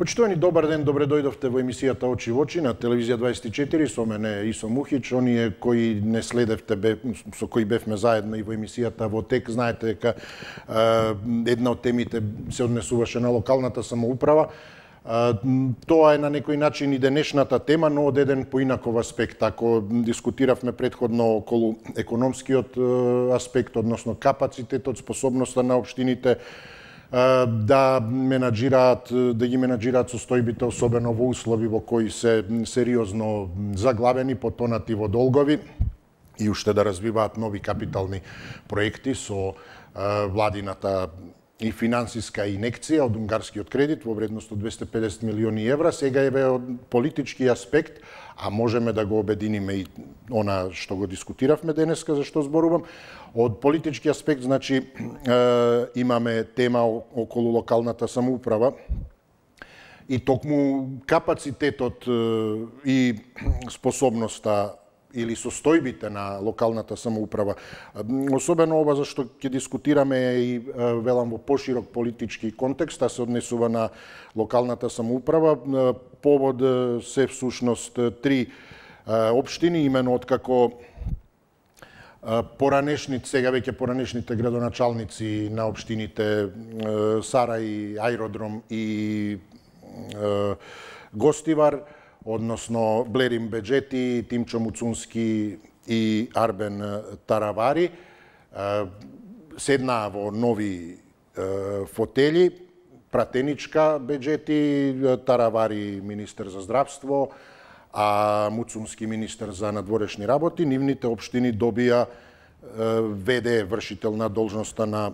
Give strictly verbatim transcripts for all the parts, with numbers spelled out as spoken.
Почитувани, добар ден, добре дојдовте во емисијата Очи во очи на телевизија дваесет и четири, со мене Исо Мухич. Оние кои не следевте, со кои бевме заедно и во емисијата во ТЕК, знаете дека една од темите се однесуваше на локалната самоуправа. Тоа е на некој начин и денешната тема, но од еден поинаков аспект. Ако дискутиравме претходно околу економскиот аспект, односно капацитетот, способноста на општините да менаџираат, да ги менаџираат состојбите, особено во услови во кои се сериозно заглавени, потонати во долгови и уште да развиваат нови капитални проекти со владината и финансиска инекција од унгарскиот кредит во вредност од двесте и педесет милиони евра. Сега е од политички аспект, а можеме да го обединиме и она што го дискутиравме денеска, за што зборувам. Од политички аспект, значи, е, имаме тема околу локалната самоуправа и токму капацитетот и способноста или состојбите на локалната самоуправа. Особено ова за што ќе дискутираме и велам во поширок политички контекст, а се однесува на локалната самоуправа. Повод се всушност три општини, имено откако поранешните, сега веќе поранешните градоначалници на општините Сарај, Ајродром и Гостивар, односно Блерим Беџети, Тимчо Муцунски и Арбен Таравари, седнаа во нови фотели, Пратеничка Беџети, Таравари министер за здравство, а Муцунски министер за надворешни работи. Нивните општини добија ВД, вршител на должноста на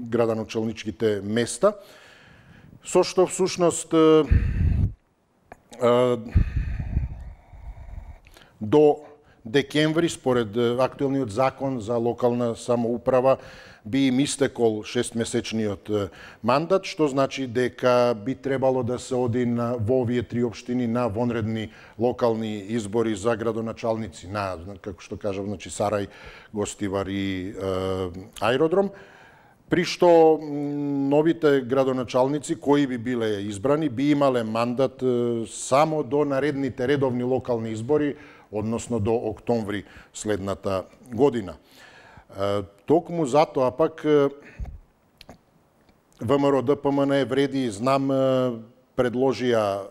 градоначалничките места, со што всушност до декември, според актуелниот закон за локална самоуправа, би им истекол шестмесечниот мандат, што значи дека би требало да се оди на, во овие три општини на вонредни локални избори за градоначалници на, како што кажав, значи Сарај, Гостивар и е, Ајродром, при што новите градоначалници кои би биле избрани би имале мандат само до наредните редовни локални избори, односно до октомври следната година. Токму затоа пак ВМРО Д П М Н вреди, знам, предложија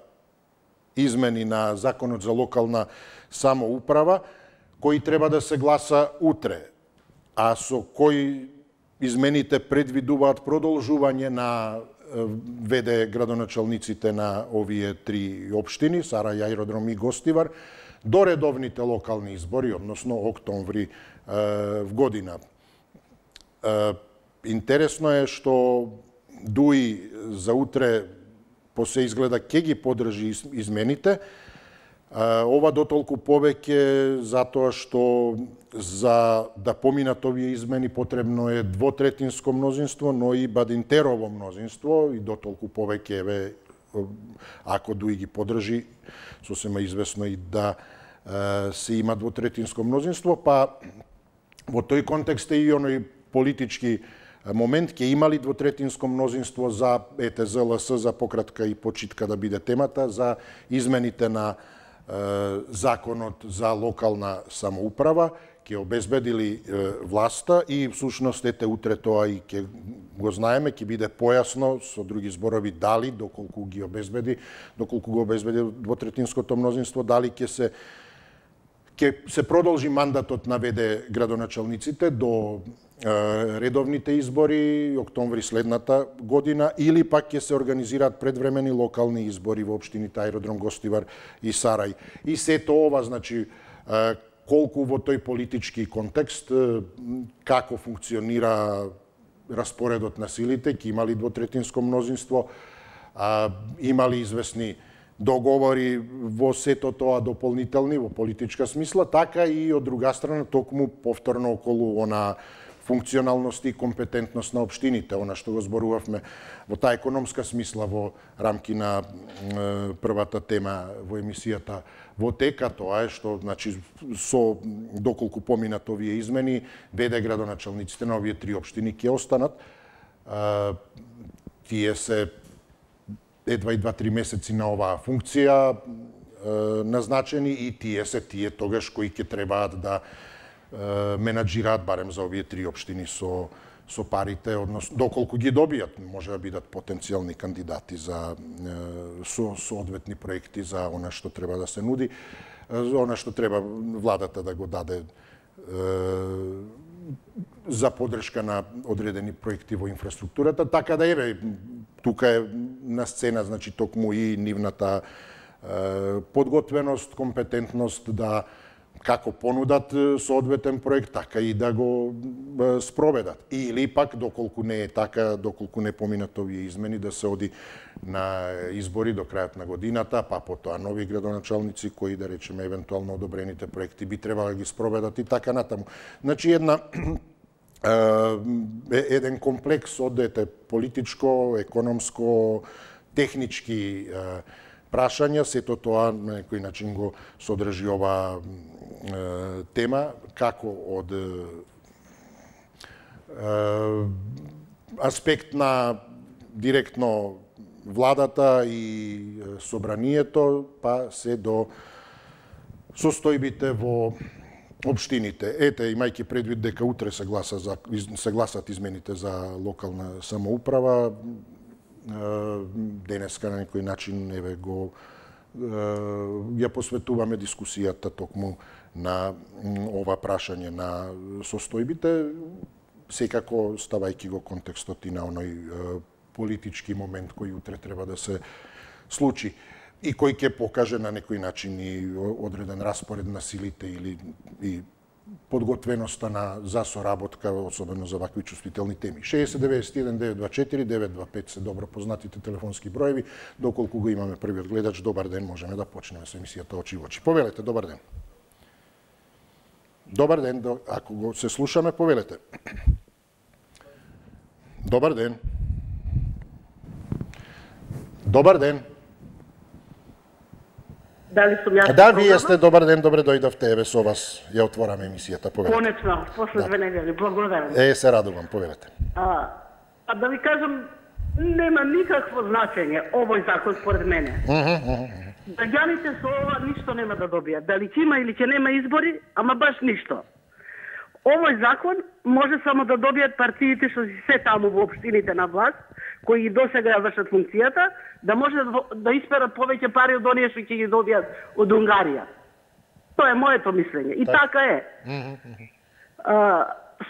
измени на Законот за локална самоуправа, кои треба да се гласа утре, а со кои измените предвидуваат продолжување на ВД градоначалниците на овие три општини, Сарај, Ајродром и Гостивар, до редовните локални избори, односно октомври в година. Интересно е што ДУИ за утре по се изгледа ќе ги поддржи измените. Ова дотолку повеќе затоа што за да поминат овие измени потребно е двотретинско мнозинство, но и Бадинтерово мнозинство, и дотолку повеќе еве ако ДУИ ги поддржи, сосема известно и да се има двотретинско мнозинство, па во тој контекст е и оној политички момент, ќе има ли двотретинско мнозинство за Е Т З Л С, за пократка и почитка да биде темата, за измените на Законот за локална самоуправа, ќе обезбедили власта и всушност ете утре тоа и ќе го знаеме, ќе биде појасно со други зборови дали, доколку ги обезбеди, доколку го обезбеди двотретинското мнозинство, дали ќе се ќе се продолжи мандатот на ВД градоначалниците до редовните избори октомври следната година, или пак ќе се организираат предвремени локални избори во општините Ајродром, Гостивар и Сарај. И сето ова, значи, колку во тој политички контекст, како функционира распоредот на силите, ќе има ли двотретинско мнозинство, има ли известни договори во сето тоа дополнителни во политичка смисла, така и од друга страна токму повторно околу она функционалност и компетентност на општините, она што го зборувавме во таа економска смисла во рамки на е, првата тема во емисијата во ТЕК, тоа е што, значи, со доколку поминат овие измени, ВД градоначалниците на овие три општини ќе останат. Е, тие се едва и два-три месеци на оваа функција назначени и тие се тие тогаш кои ќе требаат да менаџираат барем за овие три општини со со парите, односно доколку ги добијат, може да бидат потенцијални кандидати за со соодветни проекти за она што треба да се нуди, она што треба владата да го даде за поддршка на одредени проекти во инфраструктурата, така да еве тука е на сцена значи токму и нивната подготвеност, компетентност да како понудат соодветен проект, така и да го спроведат. Или пак, доколку не е така, доколку не поминат овие измени, да се оди на избори до крајот на годината, па потоа нови градоначалници кои, да речеме, евентуално одобрените проекти би требало да ги спроведат и така натаму. Значи, една еден комплекс од ете политичко, економско, технички прашања, сето тоа на некој начин го содржи оваа тема, како од аспект на директно владата и собранието, па се до состојбите во општините. Ете, имајќи предвид дека утре се гласа за се гласат измените за локална самоуправа, денеска на некој начин еве го ја посветуваме дискусијата токму на ова прашање на состојбите, секако ставајќи го контекстот и на оној политички момент кој утре треба да се случи и кој ќе покаже на некој начин и одреден распоред на силите или и подготвеноста на за соработка, особено за вакви чувствителни теми. шеесет деветдесет и еден девет два четири девет два пет се добро познатите телефонски броеви. Доколку го имаме првиот гледач, добар ден, можеме да почнеме со емисијата Очи во очи. Повелете, добар ден. Добар ден, ако го се слушаме, повелете. Добар ден. Добар ден. Дали сум јас? Да, вие сте, добар ден, добре дојдовте, еве со вас ја отвораме емисијата, повелете. Конечно, после две недели, благодарам. Е, се радувам, повелете. А, а да ви кажам, нема никакво значење овој закон според мене. Граѓаните со ова ништо нема да добијат. Дали ќе има или ќе нема избори, ама баш ништо. Овој закон може само да добијат партиите што си се таму во општините на власт, кои и досега ја вршат функцијата, да може да исперат повеќе пари од оние што ќе ги добијат од Унгарија. Тоа е моето мислење. И так. така е. А,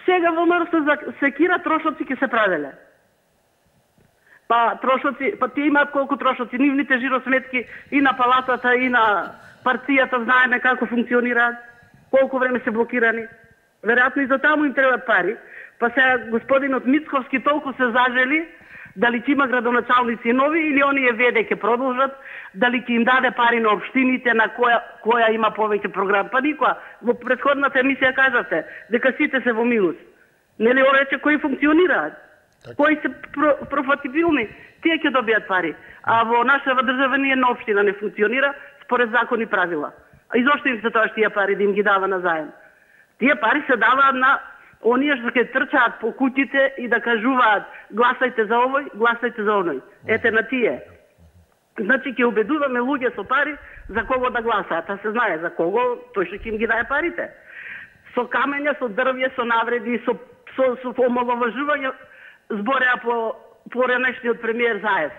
сега во МРС за секира трошоци ќе се правеле. Па трошоци, па тие имаат колку трошоци, нивните жиросметки и на палатата и на партијата знаеме како функционираат, колку време се блокирани. Веројатно и за таму им требаат пари. Па сега господинот Мицковски толку се зажели дали ќе има градоначалници нови или оние веде ќе продолжат, дали ќе им даде пари на општините на која која има повеќе програм. Па никоја. Во претходната емисија кажавте дека сите се во минус. Нели орече кои функционираат? Так. Кои се про, профатибилни, тие ќе добијат пари. А во нашава држава ни една општина не функционира според закони и правила. А изошто им се тоа што тие пари да им ги дава на заем? Тие пари се даваат на оние што ќе трчаат по куќите и да кажуваат гласајте за овој, гласајте за оној. Ете на тие. Значи ќе убедуваме луѓе со пари за кого да гласаат, а се знае за кого, тој што ќе им ги даде парите. Со камења, со дрвје, со навреди, со со, со омаловажување збореа по поранешниот премиер Заев.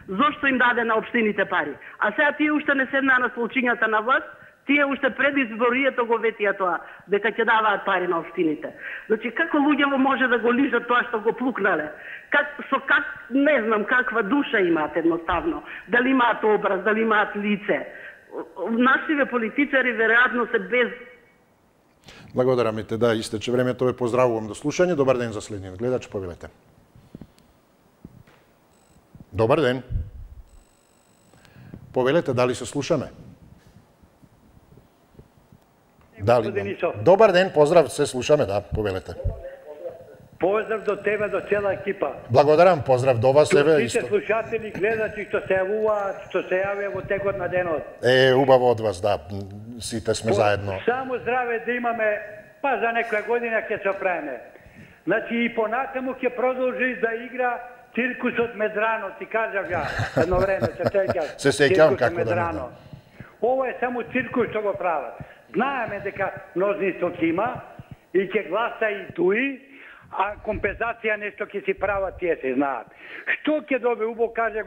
Зошто им даде на општините пари? А сега тие уште не седнаа на столчињата на власт, тие уште пред изборието го ветија тоа, дека ќе даваат пари на општините. Значи, како луѓево може да го лижат тоа што го плукнале? Как, со как, не знам, каква душа имаат едноставно. Дали имаат образ, дали имаат лице. Нашиве политичари, веројатно, се без... Благодарам те, да, истече времето, ве поздравувам до слушање. Добар ден за следниот гледач, повелете. Добар ден. Повелете, дали се слушаме? Дали? Добар ден, поздрав, се слушаме, да, повелете. Поздрав до тебе, до цела екипа. Благодарам, поздрав до вас, еве исто. Сите слушатели, гледачи што се јавуваат, што се јавија во текот на денот. Е, убаво од вас, да, сите сме заедно. Само здраве да имаме, па за некоја година ќе се оправиме. Значи и понатаму ќе продолжи да игра Циркусот Медрано, ти кажав ја, едно време, се сеќаш. Се сеќавам како да не. Ова е само циркус што го прават. Знаеме дека мнозинство ќе има и ќе гласа и туи, а компензација нешто ќе си прават, тие се знаат. Што ќе добие, убо каже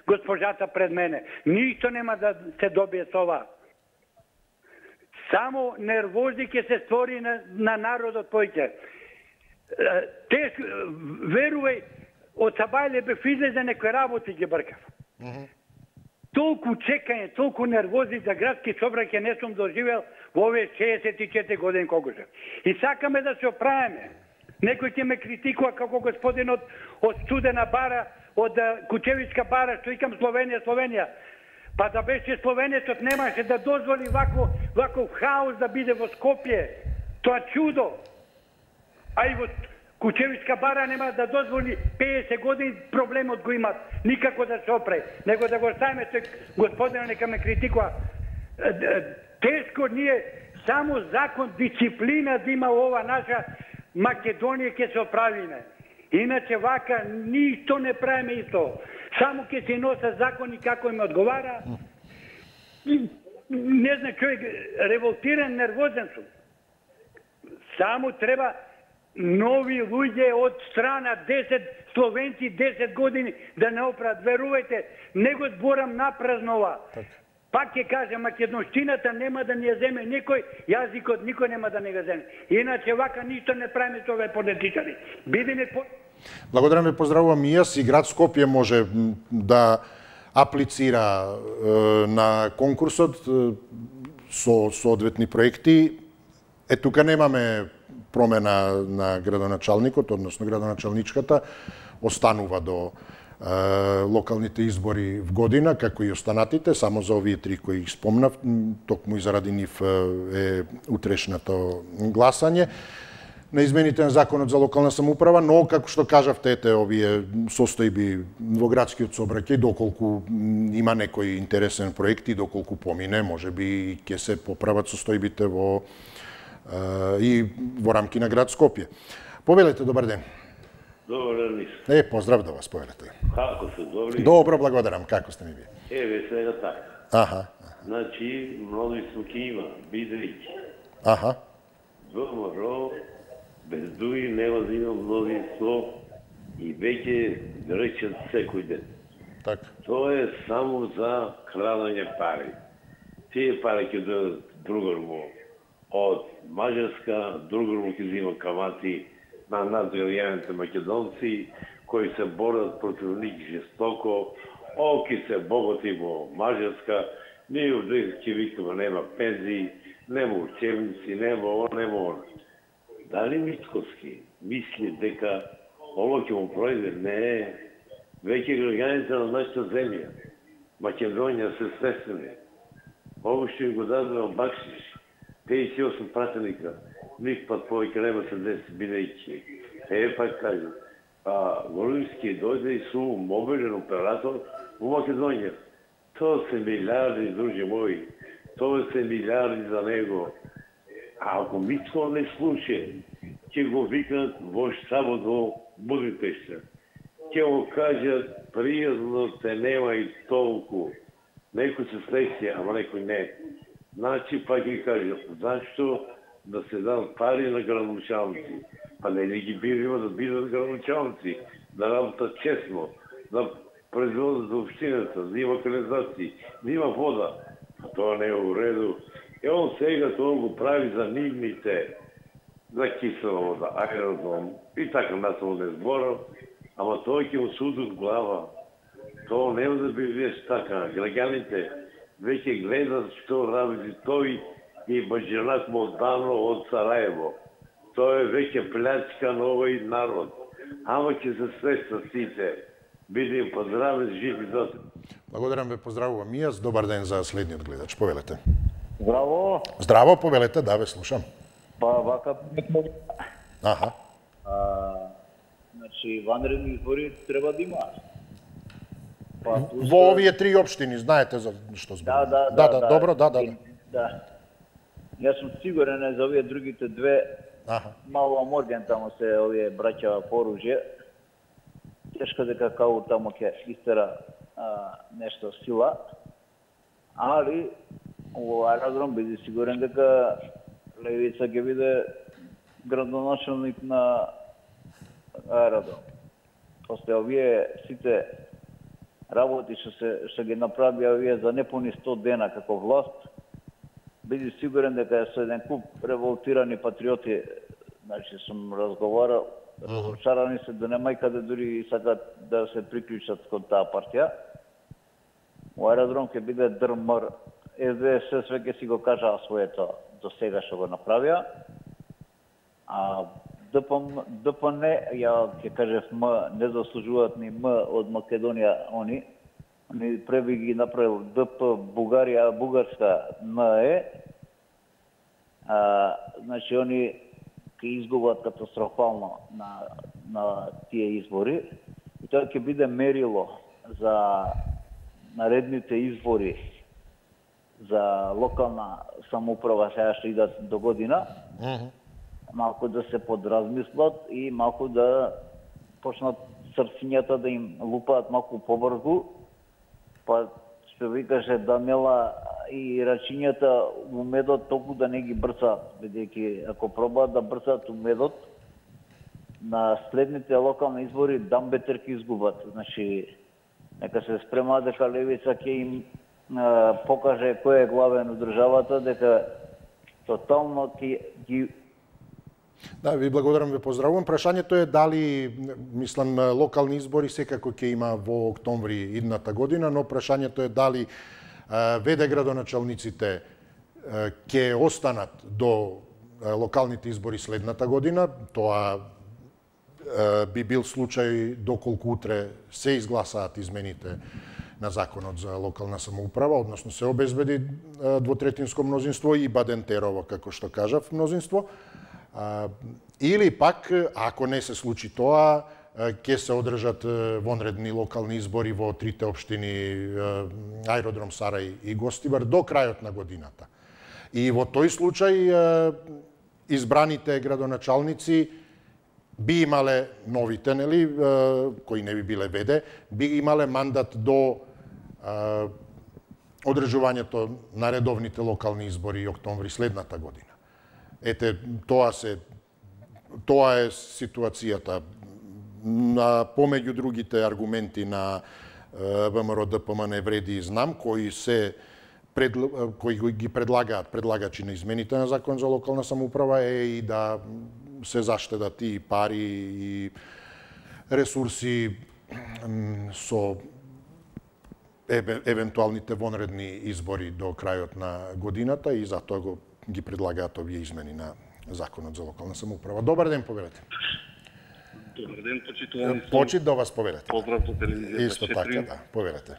госпожата пред мене, ништо нема да се добие со ова. Само нервози ќе се створи на, на народот појќе. Те, верувај, од Сабајле бев излезе некои работи ги бркав. Mm -hmm. Толку чекање, толку нервози за градски собраќај не сум доживел во овие шеесет и четири години колку се. И сакаме да се оправиме. Некој ќе ме критикува како господинот од Студена бара, од Кучевичка бара, што икам Словенија, Словенија. Па да беше Словенецот немаше да дозволи вако, вако хаос да биде во Скопје. Тоа чудо. А и во Кучевичка бара нема да дозволи пеесет години проблемот го имат. Никако да се опре. Него да го ставиме тој господинот нека ме критикува. Тешко ние само закон, дисциплина да има ова наша Македонија ќе се оправиме. Иначе вака ништо не правиме исто. Само ќе се носа закони како им одговара. Не знам, човек револтиран, нервозен сум. Само треба нови луѓе од страна, десет словенци, десет години да не оправат. Верувајте, не го зборам напразнова. Пак ќе кажа, македонштината нема да ни ја земе никој, јазикот никој нема да ни го земе. Иначе вака ништо не правиме со овие политичари. Бидеме по... Благодарам ве, поздравувам и јас. И град Скопје може да аплицира е, на конкурсот е, со соодветни проекти. Е, тука немаме промена на градоначалникот, односно градоначалничката, останува до е, локалните избори в година, како и останатите, само за овие три кои ги спомнав, токму и заради нив е утрешното гласање на измените на законот за локална самоуправа, но како што кажавте, ете овие состојби во градскиот сообраќај, доколку има некој интересен проект и доколку помине, можеби ќе се поправат состојбите во и во рамки на град Скопје. Повелете, добар ден. Добар ден. Е, поздрав да вас, повелете. Како се, добри? Добро, благодарам. Како сте ми вие? Еве, сега така. Аха. Значи, мнозинство ќе има, бидејќи. Аха. ВМРО без дуи нема да има мнозинство и веќе речат секој ден. Така. Тоа е само за крадење пари. Тие пари ќе дадат другармо од Мажарска, другармо ќе взима камати на надвилјаните македонци кои се борат против нив жестоко. О, ќе се богати во Мажарска, ние овде ќе викаме нема пензии, нема учебници, нема ово, нема оно. Дали Мицковски мисли дека ово ќе му пројде? Не. Веќе граѓаните на нашата земја, Македонија, се свестени. Ово што го дадено бакшиш, пеесет и осум пратеника, ник пат повеќе нема се деси, бидејќи. Е, пак кажем, а Волински дојде и су мобилен оператор во Македонија. Тоа се милиарди, други мои. Тоа се милиарди за него. А ако Мицко не слуше, ќе го викнат во штабот во Будипешта. Ќе го кажат, пријазно те нема и толку. Некој се среќа, ама некој не. Значи, па ќе кажат, зашто да се дадат пари на градоначалници? Па не ли ги биримо да бидат градоначалници, да работат честно, да производат за општината, да има канализации, да има вода. А тоа не е у реду. И он сега тоа го прави за нивните, за кисела вода, аеродром и така насамо не зборам, ама тоа ќе му судат глава. Тоа нема да биде така. Граѓаните веќе гледат што работи тој и Баџанак Молдано од Сараево. Тоа е веќе плячка на овој народ. Ама ќе се свеста сите. Бидем поздравен, жив и здравен. Благодарам ве, поздравувам и јас. Добар ден за следниот гледач. Повелете. Здраво. Здраво, повелете, да, ве слушам. Па, вака ме... Аха. А, значи, ванредни избори треба да има. Па, туска... Во овие три општини, знаете за што зборувам. Да, да, да, да, добро, да, да, да. Да. Јас сум сигурен за овие другите две, Аха. мало морген таму се овие браќа по оружје. тешко дека као тамо ќе истера а, нешто сила, али во аеродром биде сигурен дека Левица ќе биде градоначалник на аеродром. После овие сите работи што се што ги направи овие за непуни сто дена како власт, биде сигурен дека со еден куп револтирани патриоти, значи сум разговарал, разочарани се да нема и каде дури сакат да се приклучат кон таа партија. Во аеродром ќе биде дрмар. Ес Де Ес све ќе си го кажа своето до сега што го направија. А Д П М, Д П Н, ја ќе кажев М, не заслужуваат ни М од Македонија они. Они преби ги направил Д П Бугарија, Бугарска М Е. А, значи они ќе изгубат катастрофално на на тие избори. И тоа ќе биде мерило за наредните избори за локална самоуправа сега што идат до година. Uh-huh. Малку да се подразмислат и малку да почнат срцињата да им лупаат малку побрзу, па што ви каже Данела и рачињата у медот толку да не ги брцаат, бидејќи ако пробаат да брцаат у медот, на следните локални избори дамбетер ќе изгубат. Значи, нека се спремаат дека Левица ќе им а, покаже кој е главен у државата, дека тотално ќе ги... Да, ви благодарам, ви поздравувам. Прашањето е дали, мислам, локални избори секако ќе има во октомври идната година, но прашањето е дали веде градоначалниците ќе останат до локалните избори следната година. Тоа би бил случај доколку утре се изгласаат измените на законот за локална самоуправа, односно се обезбеди двотретинско мнозинство и Бадентерово, како што кажав, мнозинство. Или пак, ако не се случи тоа, ќе се одржат вонредни локални избори во трите општини Аеродром Сарај и Гостивар до крајот на годината. И во тој случај избраните градоначалници би имале новите, нели, кои не би биле веде, би имале мандат до одржувањето на редовните локални избори и октомври следната година. Ете, тоа се тоа е ситуацијата. На помеѓу другите аргументи на ВМРО Д П М не вреди и знам, кои се предл... кои ги предлагаат предлагачи на измените на закон за локална самоуправа е и да се заштедат и пари и ресурси со евентуалните вонредни избори до крајот на годината и затоа го ги предлагаат овие измени на законот за локална самоуправа. Добар ден, повелете. Добар ден, почитувани. Почит да вас повелете. Поздрав до телевизијата. Исто така, да, повелете.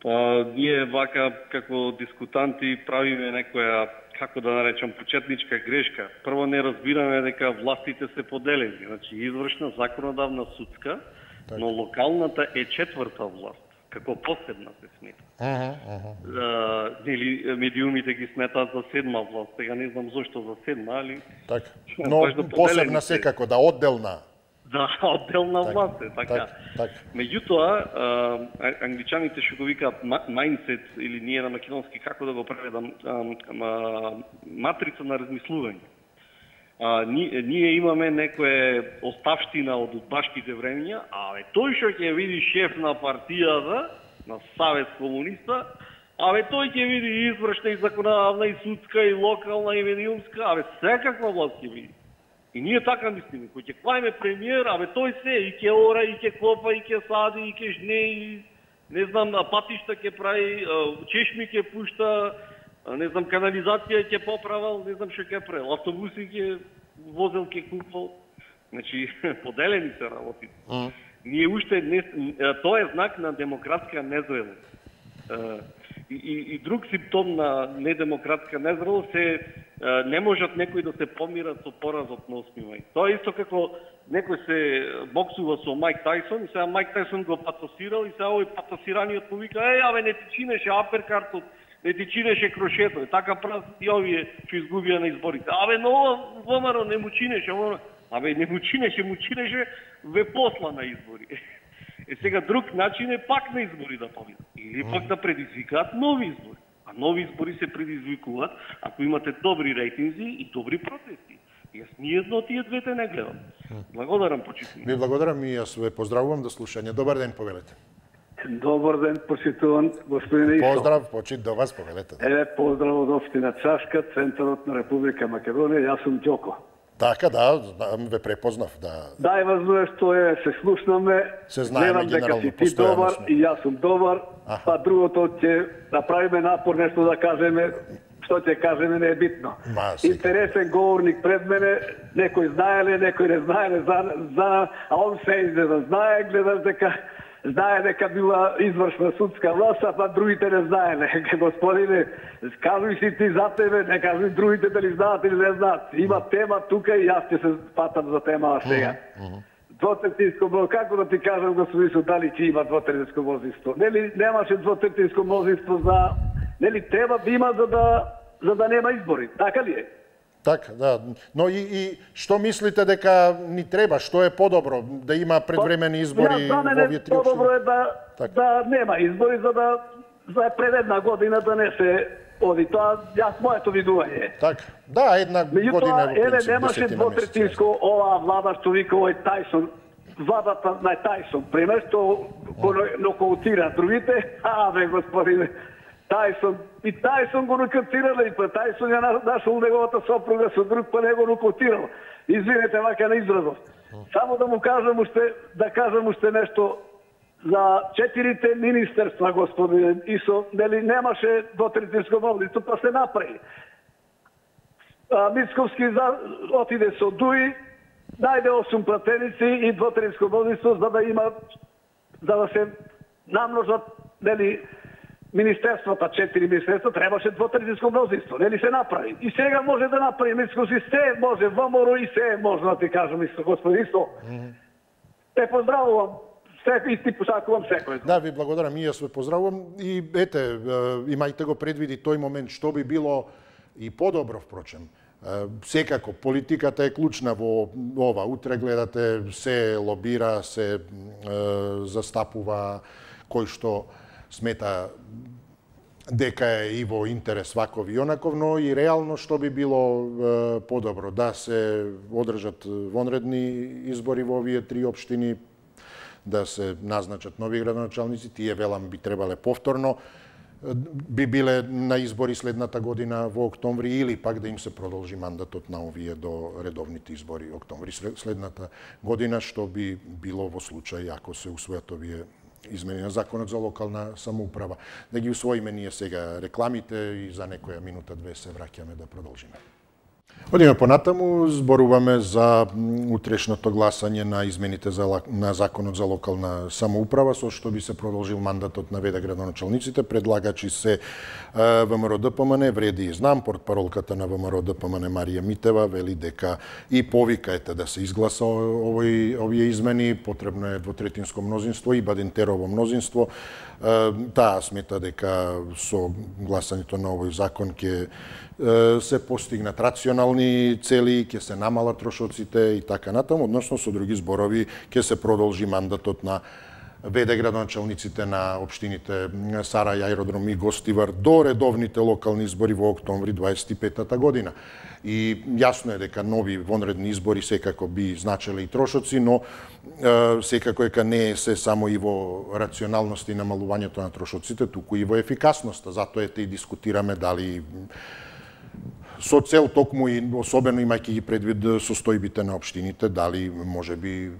Па, ние вака, како дискутанти, правиме некоја, како да наречам, почетничка грешка. Прво не разбираме дека властите се поделени. Значи, извршна, законодавна, судска, так. Но локалната е четврта власт, како посебна се смета. Ага, ага. Нели, медиумите ги сметаат за седма власт. Сега не знам зошто за седма, али... Така. Но посебна секако, да, одделна. Да, одделна так, власт е, така. Так, так. Меѓутоа, англичаните што го викаат mindset, или ние на македонски, како да го преведам, матрица на размислување. А, ние, ние имаме некоја оставштина од удбашките времења, а бе, тој што ќе види шеф на партијата, на Savez комуниста, а бе, тој ќе види извршна и законодавна, и судска, и локална, и медиумска, а бе, секаква власт ќе види. И ние така мислиме, кој ќе клајме премиер, а бе, тој се, и ќе ора, и ќе копа, и ќе сади, и ќе жне, и не знам, патишта ќе прави, чешми ќе пушта, не знам, канализација ќе поправал, не знам што ќе правил, автобуси ќе возел, ќе купал. Значи, поделени се работите. Mm. Ние уште не, тоа е знак на демократска незрелост. И, и, и друг симптом на недемократска незрелост е не можат некои да се помират со поразот на осми мај. Тоа е исто како некој се боксува со Майк Тайсон, и сега Майк Тайсон го патосирал, и сега овој патосираниот му вика: "Еј, абе, не ти чинеше аперкартот, не ти чинеше крошето." Така прават и овие што изгубија на изборите. "Абе, но ВМРО не му чинеше, абе, не му чинеше, му чинеше ве посла на избори." Е сега друг начин е пак на избори да победат или пак да предизвикаат нови избори. А нови избори се предизвикуваат ако имате добри рейтинзи и добри протести. Јас ни едно од тие двете не гледам. Благодарам, почитувам. Ви благодарам и јас ве поздравувам до слушање. Добар ден, повелете. Добар ден, почитуван господине Исо. Поздрав, почит до вас, повелете. Е, поздрав од општина Чашка, центарот на Република Македонија, јас сум Ѓоко. Така, да, ве препознав, да. Да, важно е што е, се слушнаме, се знаеме генерално, дека си ти добар сме. И јас сум добар, Аха. Па другото ќе направиме напор нешто да кажеме, што ќе кажеме не е битно. Ма, интересен говорник пред мене, некој знаеле, некој не знаеле, за, за, а он се иде да знае, гледаш дека знае дека била извршна судска власт, а па другите не знаеле. Господине, кажуј си ти за тебе, не кажуј другите дали знаат или не знаат. Има тема тука и јас ќе се патам за темава сега. Двотретинско мнозинство, како да ти кажам, господин, дали ќе има двотретинско мнозинство? Нели немаше двотретинско мнозинство за, нели треба да има за да за да нема избори, така ли е? Така, да. Но и, и што мислите дека ни треба, што е подобро да има предвремени избори во овие три општини? Подобро е да так. да нема избори за да за пред една година да не се оди. Тоа јас моето видување. Така. Да, една Меѓутоа, година е во принцип, немаше двотретинско оваа влада што вика овој Тајсон, владата на Тајсон, пример, што го нокаутира другите, а бе господине, Тајсон, и Тајсон го нокаутирал, и па Тајсон ја нашол неговата сопруга со друг, па не го нокаутирал. Извинете, вака на изразов. Само да му кажам уште, да кажам уште нешто за четирите министерства, господине Исо, нели немаше двотретинско мнозинство, па се направи. Мицковски за, отиде со Дуи, најде осум пратеници и двотретинско мнозинство за да има, за да се намножат, нели, министерствата, четири министерства, требаше двотретинско мнозинство, нели се направи. И сега може да направи Мицковски, се може, ВМРО и се може да ти кажам, Исо, господин Исо. Те поздравувам. Секој и ти посакувам секој. Да, ви благодарам и јас ве поздравувам и ете, имајте го предвиди тој момент што би било и подобро, впрочем. Секако, политиката е клучна во ова. Утре гледате, се лобира, се е, застапува кој што смета дека е и во интерес ваков и онаков, но и реално што би било е, подобро. Да се одржат вонредни избори во овие три општини, да се назначат нови градоначалници, тие велам би требале повторно, би биле на избори следната година во октомври или пак да им се продолжи мандатот на овие до редовните избори октомври следната година, што би било во случај ако се усвојат овие измени на законот за локална самоуправа. Да ги усвоиме ние сега рекламите и за некоја минута-две се враќаме да продолжиме. Одиме понатаму, зборуваме за утрешното гласање на измените за, на законот за локална самоуправа, со што би се продолжил мандатот на ВД градоначалниците. Предлагачи се ВМРО-ДПМН, вреди и знам, портпаролката на ВМРО-ДПМН Марија Митева вели дека и повика ете да се изгласа овој, овие измени, потребно е двотретинско мнозинство и Бадинтерово мнозинство. Таа смета дека со гласањето на овој закон ќе се постигнат рационални цели, ќе се намалат трошоците и така натаму, односно со други зборови ќе се продолжи мандатот на ВД градоначалниците на општините Сарај, Аеродром и Гостивар до редовните локални избори во октомври дваесет и петата година. И јасно е дека нови вонредни избори секако би значеле и трошоци, но е, секако дека не е се само и во рационалност и намалувањето на трошоците, туку и во ефикасноста. Затоа ете и дискутираме дали со цел токму и особено имајќи ги предвид состојбите на општините, дали можеби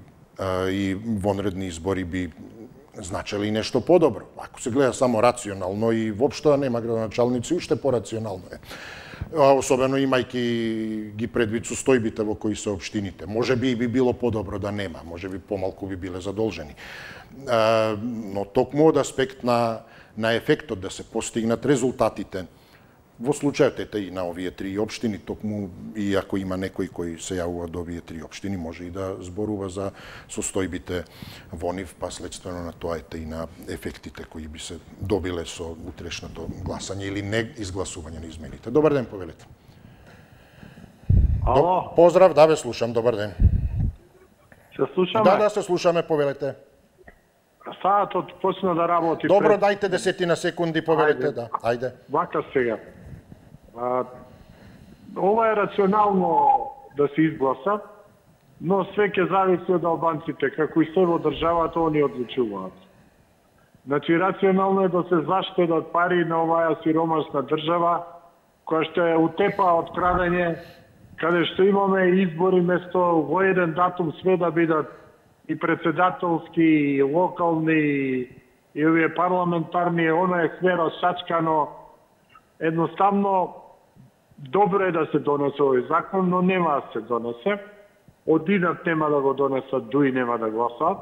и вонредни избори би значеле и нешто подобро. Ако се гледа само рационално и воопшто нема градоначалници, уште порационално е. Особено имајќи ги предвид состојбите во кои се општините. Можеби и би било подобро да нема, можеби помалку би биле задолжени. Но токму од аспект на, на ефектот да се постигнат резултатите, во случајот ете и на овие три општини, токму и ако има некој кој се јавува до овие три општини, може и да зборува за состојбите во нив, па следствено на тоа ете и на ефектите кои би се добиле со утрешното гласање или не изгласување на измените. Добар ден, повелете. Ало. Поздрав, да ве слушам, добар ден. Се слушаме? Да, да, се слушаме, повелете. саатот почна да работи. Добро, пред... дајте десетина секунди, повелете, да. Ајде. Вака сега. А, ова е рационално да се изгласа, но све ќе зависи од албанците, како и се во државата, они одлучуваат. Значи, рационално е да се заштедат пари на оваа сиромашна држава, која што е утепа од крадење, каде што имаме избори место во еден датум све да бидат и председателски, и локални, и овие парламентарни, оно е све расачкано. Едноставно, добро е да се донесе овој закон, но нема да се донесе. Одинат нема да го донесат, дуи нема да гласат.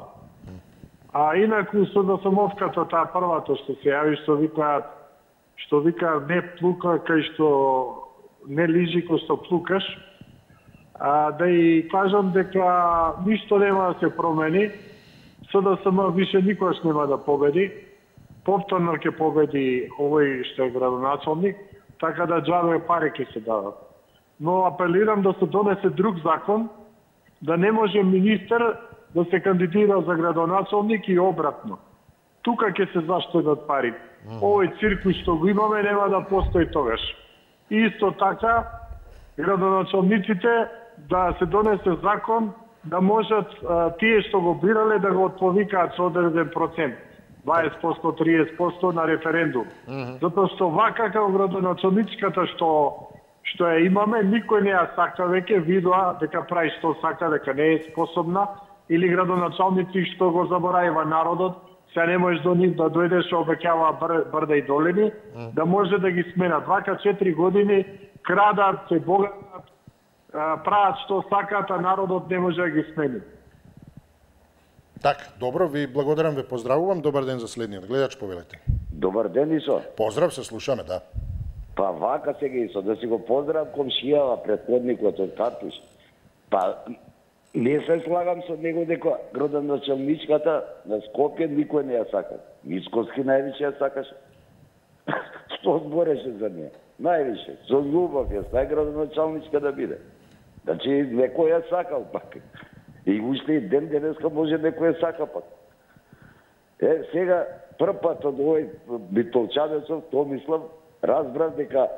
А инаку со досамовката, таа првата што се јави, што викаат, што вика не плука кај што не лижи кој што плукаш, а, да и кажам дека ништо нема да се промени, со да СДСМ више никогаш нема да победи, повторно ќе победи овој што е градоначалник, така да џабе пари ќе се дадат. Но апелирам да се донесе друг закон, да не може министер да се кандидира за градоначалник и обратно. Тука ќе се заштедат пари. Овој циркус што го имаме нема да постои тогаш. И исто така, градоначалниците да се донесе закон да можат а, тие што го бирале да го отповикаат со одреден процент. дваесет проценти, триесет проценти на референдум. Mm -hmm. Затоа што вака како градоначалничката што што ја имаме, никој не ја сака веќе, видоа дека прави што сака, дека не е способна, или градоначалници што го заборавива народот, се не можеш до нив да дојдеш, обеќава бър, брда и долини, mm. да може да ги сменат. Вака четири години крадат, се богатат, прават што сакаат, а народот не може да ги смени. Така, добро, ви благодарам, ве поздравувам. Добар ден за следниот гледач, повелете. Добар ден, Исо. Поздрав, се слушаме, да. Па вака сега, Исо, да си го поздравам комшијава, предходникот од Картуш. Па не се слагам со него дека градоначалничката на Скопје никој не ја сака. Мицкоски највише ја сакаше. Што збореше за неја? Највише. Со љубов ја стај градоначалничка да биде. Значи, некој ја сакал пак. И уште и ден денеска може некој ја сака пак. Е, сега, прв пат од овој Битолчанецов, Томислав, разбрав дека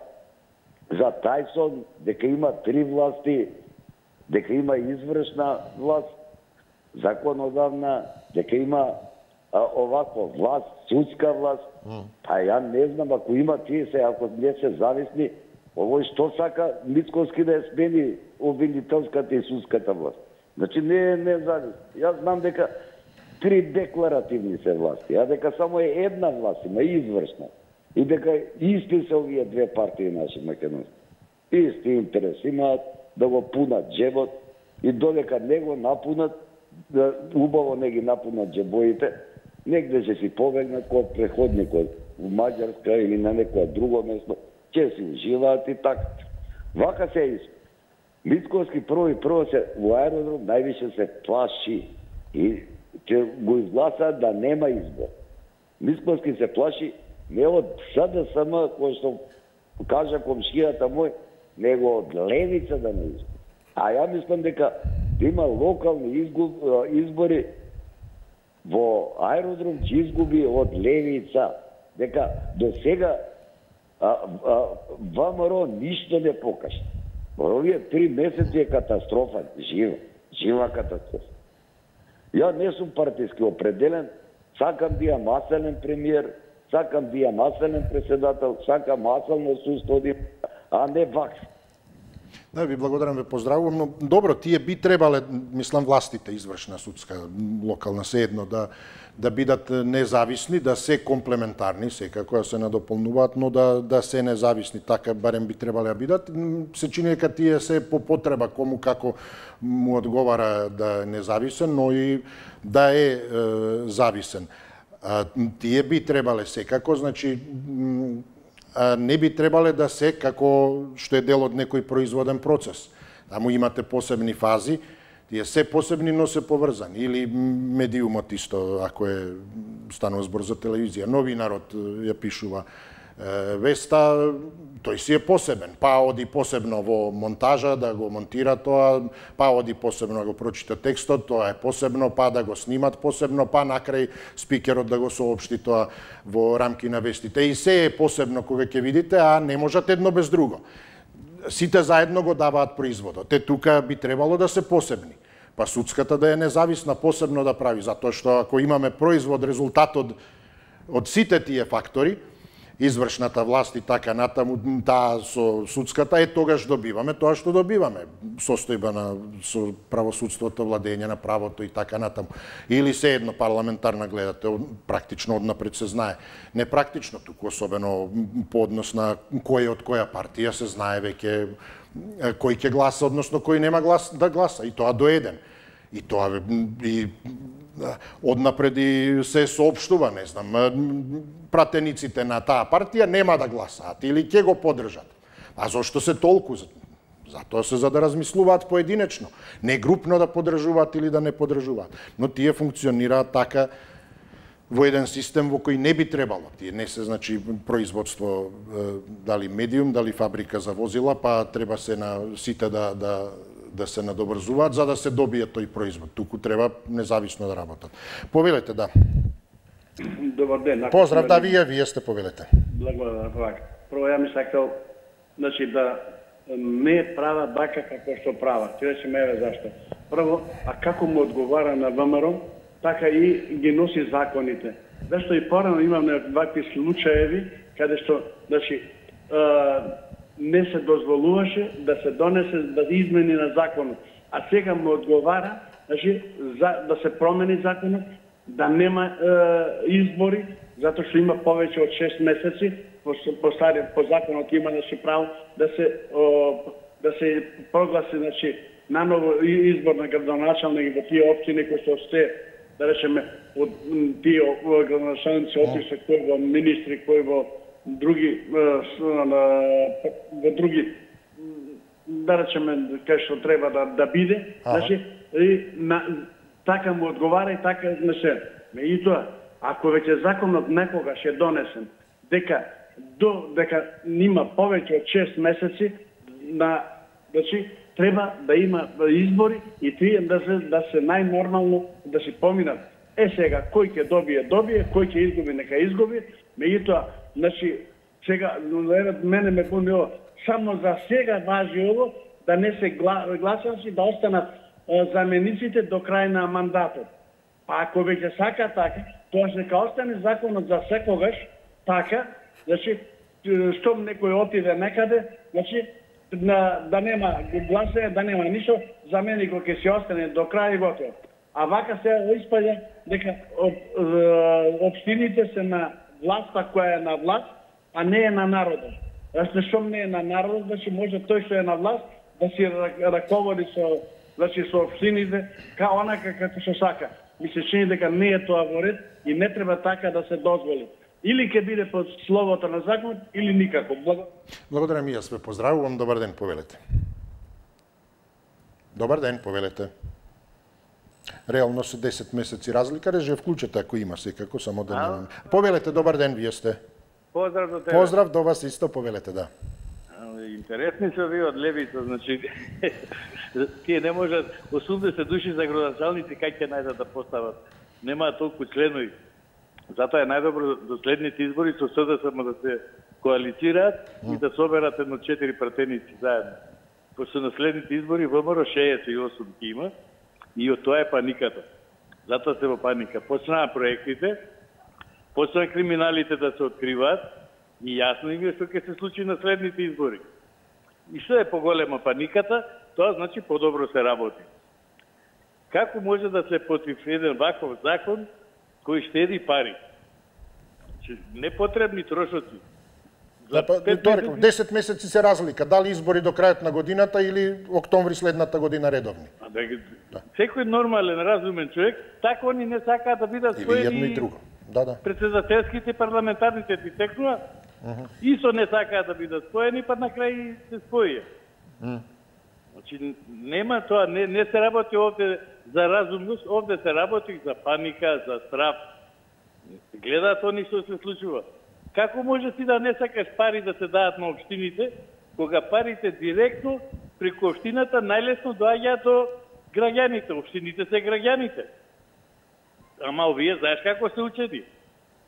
за Тајсон, дека има три власти, дека има извршна власт, законодавна, дека има а, оваква власт, судска власт. Mm. Па ја не знам, ако има тие се, ако не се зависни, овој што сака Мицкоски да ја смени обвинителската и судската власт. Значи не е независни. Јас знам дека три декларативни се власти, а дека само е една власт, има извршна. И дека исти се овие две партии наши македонски. Исти интерес имаат да го пунат джебот и додека не го напунат, да убаво не ги напунат джебоите, негде ќе си побегнат кој преходникот у Маѓарска или на некоја друго место, ќе си уживаат и така. Вака се исто. Мицкоски прво и прво се во аеродром највише се плаши и ќе го изгласаат да нема избор. Мицкоски се плаши не од СДСМ, кој што кажа комшијата мој, него од левица да не избор. А ја мислам дека има локални избори во аеродром ќе изгуби од левица. Дека до сега ВМРО ништо не покажа. Овие три месеци е катастрофа, жива, жива катастрофа. Ја не сум партиски определен, сакам да имам маселен премиер, сакам да имам маселен председател, сакам маселно судство, а не вакс. Да, ви благодарам, ве поздравувам, но добро, тие би требале, мислам, властите, извршна, судска, локална, sejedno, да, да бидат независни, да се комплементарни, секако да се надополнуваат, но да, да се независни, така барем би требале да бидат. Се чини дека тие се по потреба, кому како му одговара да е независен, но и да е, е зависен. А, тие би требале секако, значи, не би требале да се како што е дел од некој производен процес. Таму имате посебни фази, тие се посебни, но се поврзани. Или медиумот исто, ако е станува збор за телевизија. Новинарот ја пишува Веста, тој си е посебен, па оди посебно во монтажа да го монтира тоа, па оди посебно да го прочита текстот, тоа е посебно, па да го снимат посебно, па накрај спикерот да го соопшти тоа во рамки на вестите. И се е посебно кога ќе видите, а не можат едно без друго. Сите заедно го даваат производот. Те тука би требало да се посебни. Па судската да е независна посебно да прави, затоа што ако имаме производ, резултатот од сите тие фактори, извршната власт и така натаму, таа со судската, е тогаш добиваме тоа што добиваме. Состојба на со правосудството, владење на правото и така натаму. Или се едно парламентарна гледате, практично однапред се знае. Не практично, туку особено по однос на кој од која партија се знае веќе кој ќе гласа, односно кој нема глас да гласа, и тоа до еден. И тоа и однапред и се соопштува, не знам, пратениците на таа партија нема да гласаат или ќе го поддржат. А зошто се толку? Затоа се за да размислуваат поединечно, не групно да поддржуваат или да не поддржуваат. Но тие функционираат така во еден систем во кој не би требало. Тие не се, значи, производство, дали медиум, дали фабрика за возила, па треба се на сите да, да, да се надобрзуваат за да се добие тој производ. Туку треба независно да работат. Повелете, да. Добар ден. Поздрав, да, вие, вие сте, повелете. Благодарам. Прво, ја ми сакал, значи, да не прават така како што прават. Ти рече ме зашто. Прво, а како му одговара на ВМРО, така и ги носи законите. Зашто и порано имаме вакви случаеви каде што, значи, не се дозволуваше да се донесе, да измени на законот. А сега му одговара, значи, за, да се промени законот, да нема е, избори, затоа што има повеќе од шест месеци, по, по, стари, по законот има да се право да се, о, да се прогласи, значи, наново избор на градоначалник во тие општини кои што сте, да речеме, од тие градоначалници отише кои во министри, кои во други во други да речеме кај што треба да да биде, значи и на така му одговара и така не се. Меѓутоа, ако веќе законот некогаш е донесен, дека до дека има повеќе од шест месеци на, значи треба да има избори и тие да се да се најнормално да се поминат. Е сега кој ќе добие, добие, кој ќе изгуби, нека изгуби. Меѓутоа, значи сега мене ме буни ова, само за сега важи ово да не се гласанци да останат замениците до крај на мандатот. Па ако веќе сака така, тоа нека остане законот за секогаш така, значи штом некој отиде некаде, значи на, да нема гласење, да нема ништо, заменикот ќе се остане до крај и готово. А вака се испаѓа дека општините се на власта која е на власт, а не е на народот. Зашто што не е на народот, значи може тој што е на власт да си раководи со, значи со општините као онака како што сака. Ми се чини дека не е тоа во ред и не треба така да се дозволи. Или ќе биде под словото на законот, или никако. Благодарам и јас ве поздравувам. Добар ден, повелете. Добар ден, повелете. Реално се десет месеци разлика, реже вклучете ако има секако, само да немам. Повелете, добар ден, вие сте. Поздрав до тебе. Поздрав до вас исто, повелете, да. Интересни се ви од левица, значи тие не можат осумдесет души за градоначалници кај ќе најдат да постават. Немаат толку членови. Затоа е најдобро до следните избори со СДСМ да се коалицираат и да соберат едно четири пратеници заедно. Пошто на следните избори ВМРО шеесет и осум ќе има и од тоа е паниката. Затоа се во паника. Почнаа проектите, почнаа криминалите да се откриваат и јасно им е што ќе се случи на следните избори. И што е поголема паниката, тоа значи подобро се работи. Како може да се против еден ваков закон кој штеди пари? Непотребни трошоци. Да, па, тоа реков, десет месеци се разлика, дали избори до крајот на годината или октомври следната година редовни. А, да, да. Секој нормален, разумен човек, така они не сакаат да бидат споени. Или едно и друго. Да, да. Председателските парламентарните ти текнува, uh -huh. Исо не сакаат да бидат споени, па на крај се споија. Uh -huh. Значи, нема тоа, не, не се работи овде за разумност, овде се работи за паника, за страв. Гледаат они што се случува. Како може ти да не сакаш пари да се дадат на општините, кога парите директно преку општината најлесно доаѓаат до граѓаните, општините се граѓаните. Ама овие знаеш како се учени?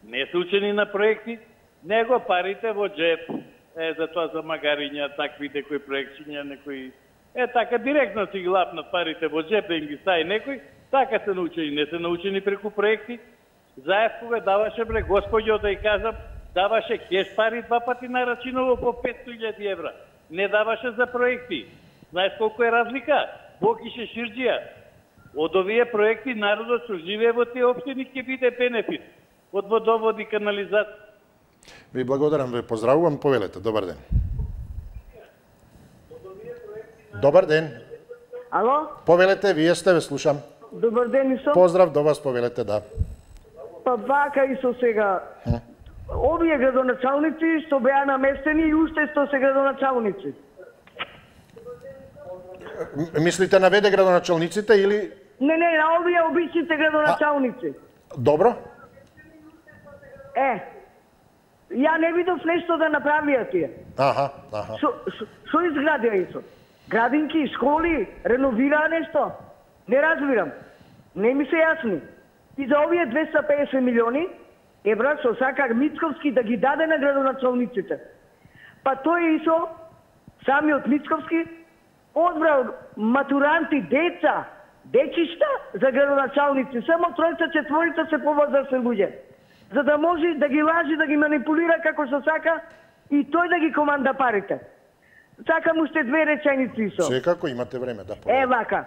Не се учени на проекти, него парите во джеп. Е, за тоа за магариња, такви некои проектчиња, некои... Е, така директно си ги лапнат парите во джеп да им ги стави некој, така се научени, не се научени преку проекти. Заев кога даваше, бре, господјо, да ја кажам, даваше кеш пари два пати на рачиново по петстотини илјади евра. Не даваше за проекти. Знаеш колку е разлика? Бокише Ширџија. Од овие проекти народот што живее во тие општини ќе биде бенефит. Од водовод и канализација. Ви благодарам, ве поздравувам, повелете. Добар ден. Добар ден. Ало? Повелете, вие сте, ве слушам. Добар ден, Исо. Поздрав до вас, повелете, да. Па вака, Исо, сега. Овие градоначалници што беа наместени и уште што се градоначалници. Мислите на веде градоначалниците или... Не, не, на овие обичните градоначалници. Добро. Е, ја не видов нешто да направија тие. Аха, аха. Што изградија, Исо? Градинки, школи, реновираа нешто? Не разбирам. Не ми се јасни. И за овие двеста педесет милиони евра што сака Мицковски да ги даде на градоначалниците. Па тој Исо, самиот Мицковски, одбрал матуранти, деца, дечишта за градоначалници. Само тројца, четворица се повозрасни луѓе. За да може да ги лажи, да ги манипулира како што сака и тој да ги команда парите. Сакам уште две реченици, Исо. Секако имате време да поведете. Е, вака.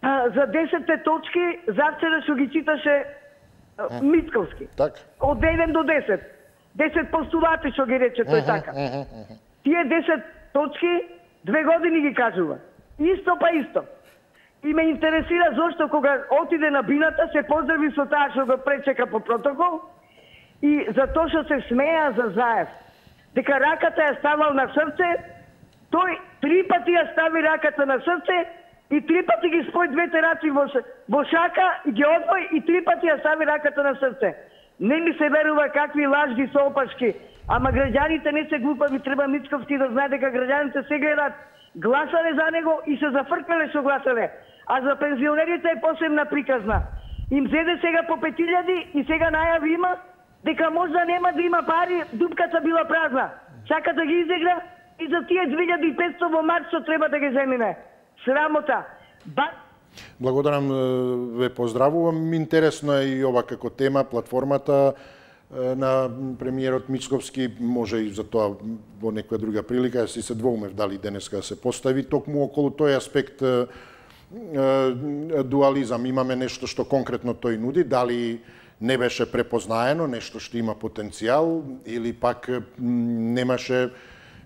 А, за десетте точки, завчера што ги читаше а, Мицковски. Так. Од еден до десет. десет постулати што ги рече тој така. Тие десет точки две години ги кажува. Исто па исто. И ме интересира зошто кога отиде на бината се поздрави со таа што го пречека по протокол и за тоа што се смеа за Заев. Дека раката ја ставал на срце, тој три пати ја стави раката на срце и три пати ги спои двете раци во, во шака и ги одвои и три пати ја стави раката на срце. Не ми се верува какви лажди со опашки. Ама граѓаните не се глупави, треба Мицковски да знае дека граѓаните се гледат, гласале за него и се зафркнале со гласале. А за пензионерите е посебна приказна. Им зеде сега по пет илјади и сега најави има дека можда нема да има пари, дупката била празна. Сака да ги изигра и за тие две илјади и петстотини во март што треба да ги земине. Срамота. Ба... Благодарам, ве поздравувам. Интересно е и ова како тема, платформата на премиерот Мицковски, може и за тоа во некоја друга прилика, си се двоумев дали денеска се постави, токму околу тој аспект дуализам. Имаме нешто што конкретно тој нуди, дали не беше препознаено, нешто што има потенцијал, или пак немаше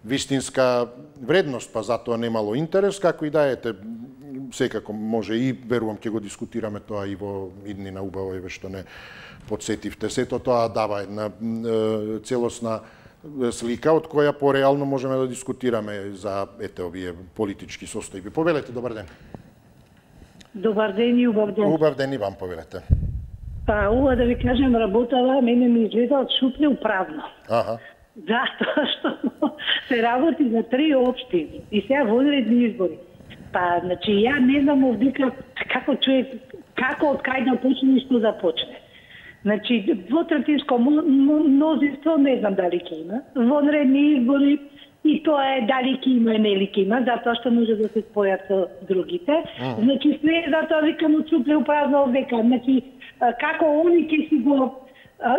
вистинска вредност, па затоа немало интерес, како и да ете, секако може и верувам ќе го дискутираме тоа и во иднина, убаво е што не подсетивте. Сето тоа дава една е, целосна слика од која пореално можеме да дискутираме за ете овие политички состојби. Повелете, добар ден. Добар ден и убав ден. Убав ден и вам, повелете. Па, ова да ви кажем, работава, мене ми изгледа од шупље празно. Аха. Затоа што се работи за три општини и сега вонредни избори. Па, значи, ја не знам овдека како човек, како од кај да почне и што да почне. Значи, двотретинско мнозинство не знам дали ќе има. Вонредни избори и тоа е дали ќе има и нели ќе има, затоа што може да се спојат со другите. Mm. Значи, све затоа викам од шупље празно овдека. Значи, како они ќе си го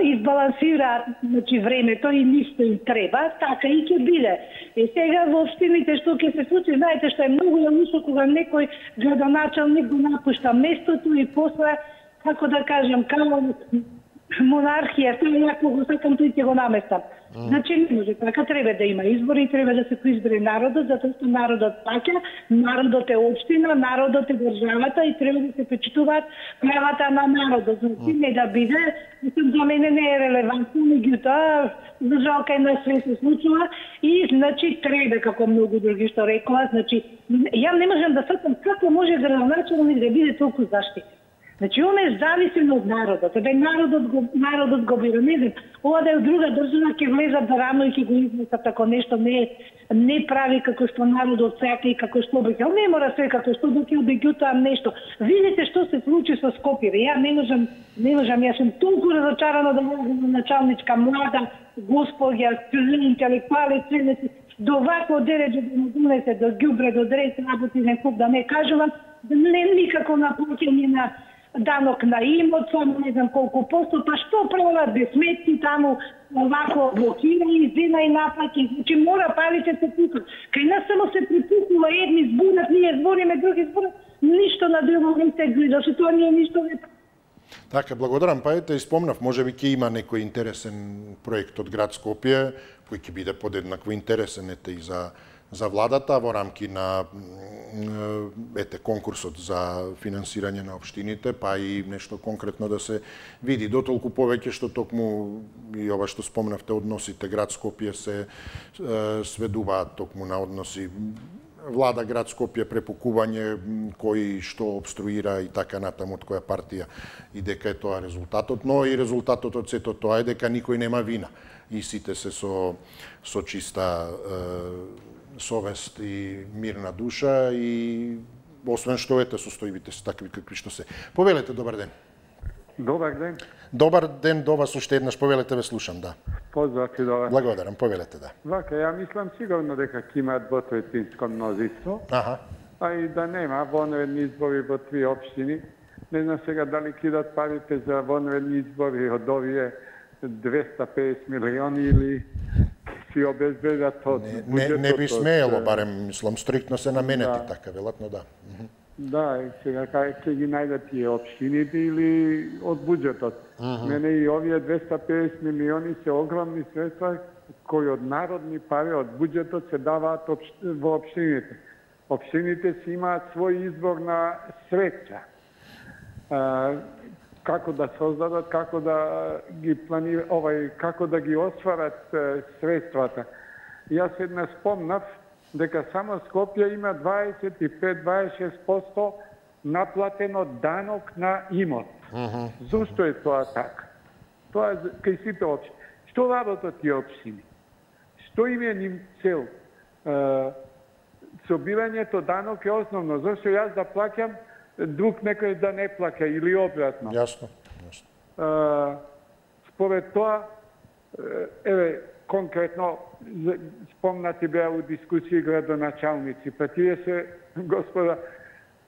избалансира, значи, времето и ништо им треба, така и ќе биде. И сега во општините што ќе се случи, знаете што е многу лошо кога некој градоначалник го напушта местото и после, како да кажем, како монархија, тоа јако го сакам, тој ќе го наместам. Mm. Значи не може така, треба да има избори, треба да се поизбере народот, затоа што народот паќа, народот е општина, народот е државата и треба да се почитуваат правата на народот. Значи не да биде, за мене не е релевантно, меѓутоа за жал кај нас све се случува и значи треба, како многу други што рекоа, значи ја не можам да сакам како може градоначалник да биде толку заштитен. Значи, он е зависен од народот. Ебе, народот го, народот го бира. Не знам, ова да е друга држава, ќе влезат да рано и ќе го изнесат, ако нешто не, не прави како што народот сака и како што би. Не мора се како што би ќе обеѓутам нешто. Видите што се случи со Скопје. Ја не можам, не можам, јас сум толку разочарана да можам началничка млада господја, интелектуалец, до вакво дереđe да му донесе до ѓубре, до дрес работи некој да не кажувам, не никако на плаќање на данок на имот, само не знам колку посто, па што прават без сметки таму, овако блокира и зена и наплаќи, значи мора парите се пукат. Кај нас само се припукнува, едни збунат, ние збориме, други збунат, ништо на друго не се гледа, што тоа ние ништо не. Така, благодарам. Па ете, спомнав, може би ќе има некој интересен проект од град Скопје, кој ќе биде подеднакво интересен ете и за за владата во рамки на ете конкурсот за финансирање на општините, па и нешто конкретно да се види. Дотолку повеќе што токму и ова што спомнавте односите град Скопје се сведуваат токму на односи влада град Скопје, препукување кој што обструира и така натаму од која партија и дека е тоа резултатот, но и резултатот од сето тоа е дека никој нема вина и сите се со со чиста е, совест и мирна душа и освен што ете состојбите се такви какви што се. Повелете, добар ден. Добар ден. Добар ден до вас уште еднаш, повелете, ве слушам, да. Поздрав ти до вас. Благодарам, повелете, да. Вака, ја мислам сигурно дека ќе имаат двотреćinско мнозинство, Аха. а и да нема вонредни избори во три општини. Не знам сега дали кидат парите за вонредни избори од овие двеста педесет милиони или си обезбедат од не, буџетот. Не, не би смеело, барем, мислам, стриктно се наменети, да. Така, велатно, да. Да, и сега кај ќе ги најдат тие општините или од буџетот. Uh -huh. Мене и овие двеста педесет милиони се огромни средства кои од народни пари, од буџетот се даваат во општините. Општините си имаат свој избор на средства. А, како да создадат, како да ги планира, овај, како да ги осварат е, средствата. Јас една спомнав дека само Скопје има дваесет и пет до дваесет и шест проценти наплатено данок на имот. Uh -huh. Зошто е тоа така? Тоа е кај сите општини. Што работат тие општини? Што им е ним цел? Е, собирањето данок е основно. Зошто јас да плаќам, друг некој да не плаќа или обратно? Јасно. Јасно. Е, според тоа, еве, конкретно, спомнати беа у дискусии градоначалници, па тие се, господа,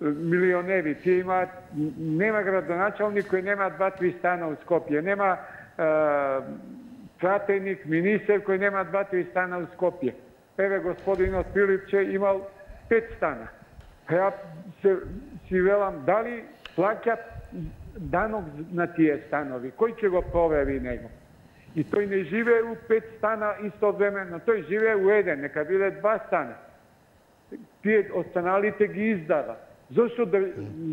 милионери, тие имаат, нема градоначалник кој нема два-три стана у Скопје, нема е, пратеник, министер кој нема два-три стана у Скопје. Еве, господинот Пилипче имал пет стана. Ја се си велам, дали плаќат данок на тие станови, кој ќе го провери него? И тој не живее у пет стана истовремено, тој живее у еден, нека биде два стана. Тие останалите ги издава. Зошто, да,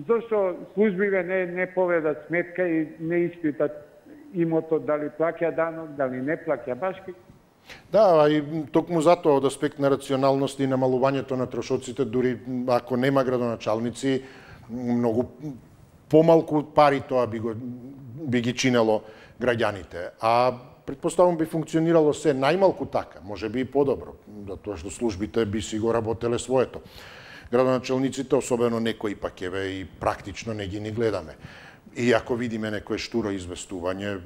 зошто службиве не, не поведат сметка и не испитат имотот дали плаќа данок, дали не плаќа башки? Да, и токму затоа од аспект на рационалност и намалувањето на трошоците, дури ако нема градоначалници, многу помалку пари тоа би, го, би ги чинело граѓаните. А предпоставам би функционирало се најмалку така, може би и подобро, затоа што службите би си го работеле своето. Градоначалниците, особено некои пак еве и практично не ги ни гледаме. И ако видиме некое штуро известување,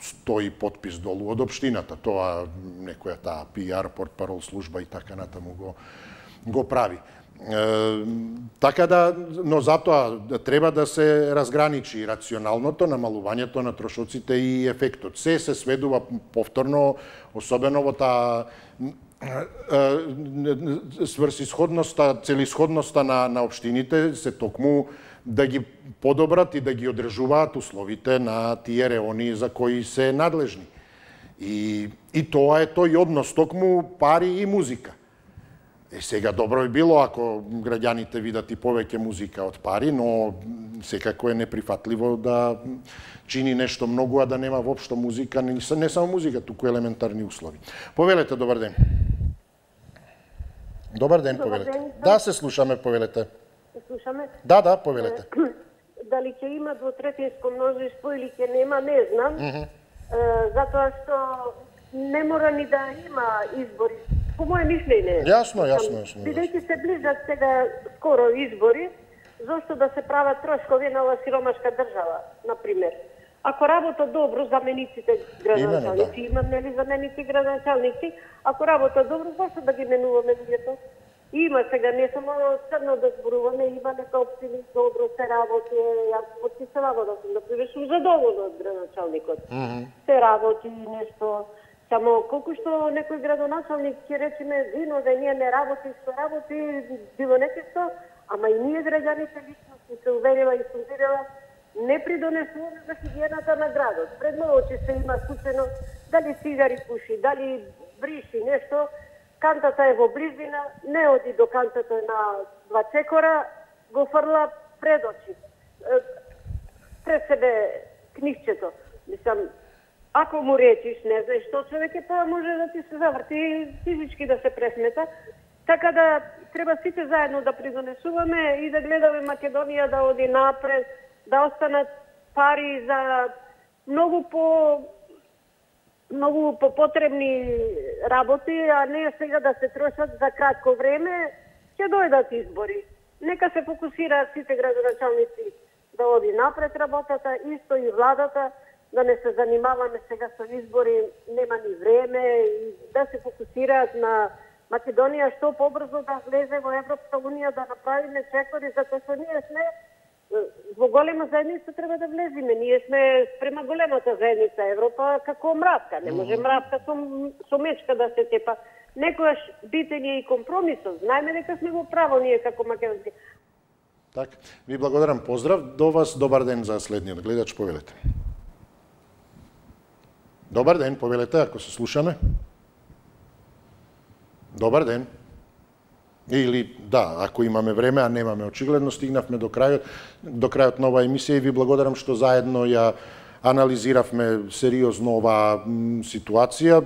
стои подпис долу од општината, тоа некоја таа пи ар, портпарол служба и така натаму го, го прави. Е, така да, но затоа треба да се разграничи рационалното, намалувањето на трошоците и ефектот. Се се сведува повторно, особено во таа сврсисходноста, целисходноста на, на општините се токму да ги подобрат и да ги одржуваат условите на тие реони за кои се надлежни. И, и тоа е тој однос, токму пари и музика. Е, сега добро би било ако граѓаните видат и повеќе музика од пари, но секако е неприфатливо да чини нешто многу, а да нема воопшто музика, не, не само музика, туку елементарни услови. Повелете, добар ден. Добар ден, Добар повелете. ден. Да, се слушаме, повелете. Се слушаме? Да, да, повелете. дали ќе има двотретинско мнозинство или ќе нема, не знам. Mm -hmm. е, затоа што не мора ни да има избори. По моје мислење. Јасно, јасно, јасно. Бидејќи се ближат сега скоро избори, зошто да се прават трошкови на ова сиромашка држава, например. Ако работа добро, замениците градоначалници, имам нели заменици градоначалници, ако работа добро, зашто да ги менуваме луѓето? Има сега, не само црно да зборуваме, има нека општини добро се работи, јас потписувам да сум, например, сум задоволна од градоначалникот. Mm -hmm. Се работи нешто, само колку што некој градоначалник ќе речеме, вино да ние не работи, што работи, било нешто, ама и ние граѓаните лично сум се уверила и сум видела, не придонесуваме за хигиената на градот. Пред очи се има случајно дали цигари пуши, дали бриши нешто, кантата е во близина, не оди до кантата на два чекора, го фрла пред очи. Пред себе книгчето. Мислам, ако му речиш, не знаеш што човек е, па може да ти се заврти физички да се пресмета. Така да треба сите заедно да придонесуваме и да гледаме Македонија да оди напред, да останат пари за многу по многу по потребни работи, а не сега да се трошат за кратко време, ќе дојдат избори. Нека се фокусираат сите градоначалници да оди напред работата, исто и владата, да не се занимаваме сега со избори, нема ни време, и да се фокусираат на Македонија што побрзо да влезе во Европска унија, да направиме чекори, затоа што ние сме во голема заедница треба да влеземе. Ние сме спрема големата заедница Европа како мравка. Не може мравка со, со мечка да се тепа. Некојаш битење и компромисот. Знаеме дека сме во право ние како македонци. Так, ви благодарам. Поздрав до вас. Добар ден за следниот гледач. Повелете. Добар ден, повелете, ако се слушаме. Добар ден. Или, да, ако имаме време, а немаме, очигледно стигнавме до крајот, до крајот на оваа емисија и ви благодарам што заедно ја анализиравме сериозно оваа ситуација,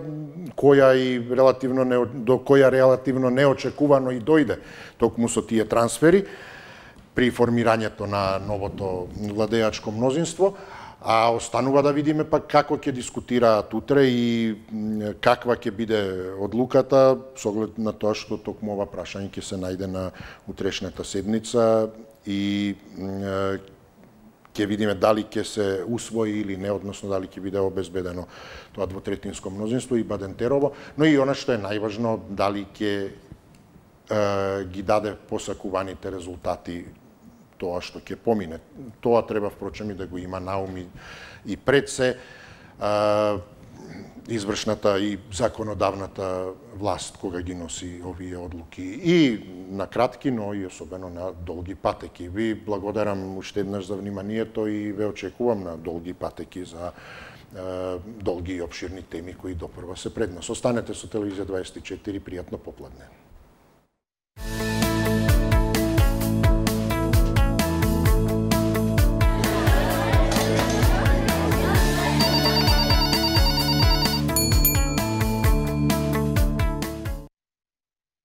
која и релативно не, до која релативно неочекувано и дојде токму со тие трансфери при формирањето на новото владеачко мнозинство. А останува да видиме пак како ќе дискутираат утре и каква ќе биде одлуката, со оглед на тоа што токму ова прашање ќе се најде на утрешната седница и ќе видиме дали ќе се усвои или не, односно дали ќе биде обезбедено тоа двотретинско мнозинство и Бадентерово, но и она што е најважно, дали ќе ги даде посакуваните резултати тоа што ќе помине. Тоа треба, впрочем, и да го има на ум и пред се а, извршната и законодавната власт кога ги носи овие одлуки. И на кратки, но и особено на долги патеки. Ви благодарам уште еднаш за вниманието и ве очекувам на долги патеки за а, долги и обширни теми кои допрва се пред нас. Останете со Телевизија дваесет и четири, пријатно попладне.